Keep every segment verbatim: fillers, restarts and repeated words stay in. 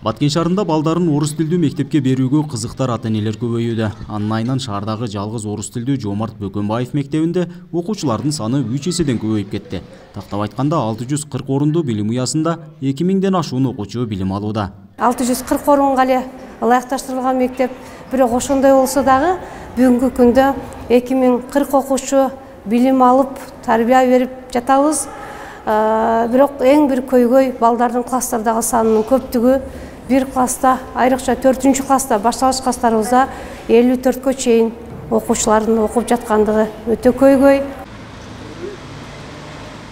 Баткен шаарында балдарын орус тилдүү мектепке берүүгө кызыктар ата-энелер көбөйүүдө. Анын айынан шаардагы жалгыз орус тилдүү Жомарт Бөкөнбаев мектебинде окуучулардын саны үч эседен көбөйүп кетти. Тактап айтканда алты жүз кырк орунду билим уясында эки миңден ашуун окуучу билим алууда. алты жүз кырк орунга эле ылайыкташтырылган мектеп, бирок ошондой болсо дагы бүгүнкү күндө эки миң кырк окуучу билим алып, тарбия берип жатабыз. Бирок эң бир көйгөй балдардын класстардагы санынын көптүгү. Бир класста, айрыкча төртүнчү класста башталгыч класстарыбызда элүү төрткө чейин окуучулардын окуп жаткандыгы өтө көйгөй.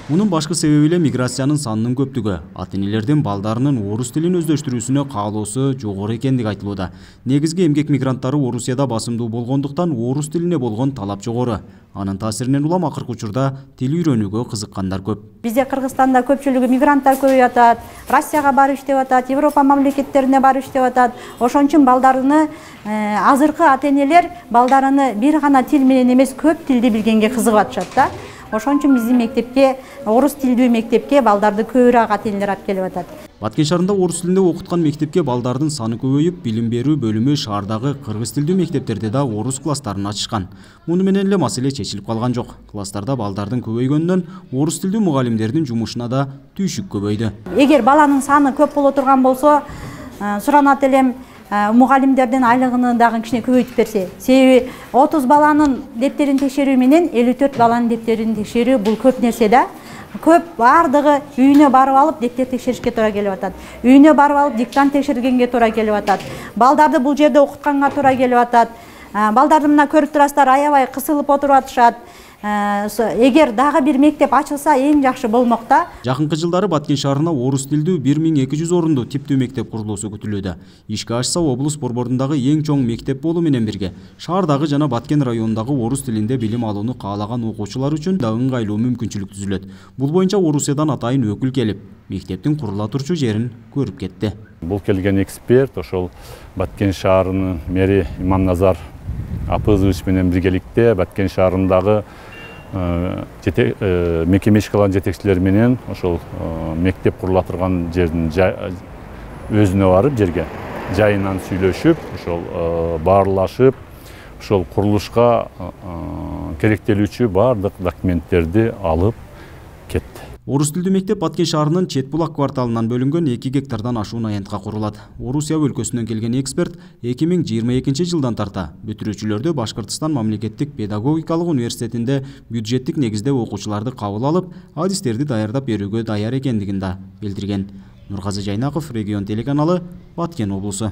Мунун башкы себеби эле миграциянын санынын көптүгү. Ата-энелердин балдарынын орус тилин өздөштүрүүсүнө каалоосу жогору экендиги айтылууда. Негизги эмгек мигранттары Орусияда басымдуу болгондуктан орус тилине болгон талап жогору. Анын таасиринен улам акыркы учурда тил үйрөнүүгө кызыккандар көп. Бизде Кыргызстанда көпчүлүгү мигранттар көбөйүп атат, Россияга барып иштеп атат, Европа мамлекеттерине барып иштеп атат. Ошон үчүн балдарыны азыркы ата-энелер балдарыны бир гана тил менен эмес, көп тилди билгенге кызыгып атышат да. Ошон үчүн биздин мектепке, орус тилдүү мектепке балдарды көбүрөөк ата-энелер алып келип атат. Баткен шаарында орус тилинде окуткан мектепке балдардын саны көбөйүп, билим берүү бөлүмү шаардагы кыргыз тилдүү мектептерде да орус класстарын ачышкан. Муну менен эле маселе чечилип калган жок. Класстарда балдардын көбөйгөнүнөн орус тилдүү мугалимдердин жумушуна да түйшүк көбөйдү. Эгер баланын саны көп боло турган болсо, суранат элем мугалимдердин айлыгын дагы кичине көбөйтүп берсе. Себеби отуз баланын дептерин текшерүү менен элүү төрт баланын дептерин текшерүү бул көп нерсе да. Көп бардыгы үйүнө барып алып дептер текшеришке туура келип атат. Үйүнө барып алып диктант текшергенге туура келип атат. Балдарды бул жерде окутканга туура келип атат. Балдарды мына көрүп турасыздар, аябай кысылып отуруп атышат. Эгер дагы бир мектеп ачылса эң жакшы болмок да. Жакынкы жылдары Баткен шаарына орус тилдүү бир миң эки жүз орунду типтүү мектеп курулуусу күтүлүүдө. Ишке ашса, облус борборундагы эң чоң мектеп болуу менен бирге шаардагы жана Баткен районундагы орус тилинде билим алууну каалаган окуучулар үчүн да ыңгайлуу мүмкүнчүлүк түзүлөт. Бул боюнча Орусиядан атайын өкүл келип, мектептин курула турчу жерин көрүп кетти. Бул келген эксперт ошол Баткен шаарынын мэри Иманназар Апызович менен биргеликте Баткен шаарындагы мекеме иш кылган жетекчилер менен ошол мектеп курула турган жердин өзүнө барып жерге жайынан сүйлөшүп, ошол баарлашып, ошол курулушка керектелүүчү бардык документтерди алып кетти. Орус тилдүү мектеп Баткен шаарынын Чет булак кварталынан бөлүнгөн эки гектардан ашуун аянтка курулат. Орусия өлкөсүнөн келген эксперт эки миң жыйырма экинчи жылдан тарта бүтүрүүчүлөрдү Башкыртстан мамлекеттик педагогикалык университетинде бюджеттик негизде окуучуларды кабыл алып, адистерди даярдап берүүгө даяр экендигин да билдирген. Нургазы Жайнаков, Регион телеканалы, Баткен облусу.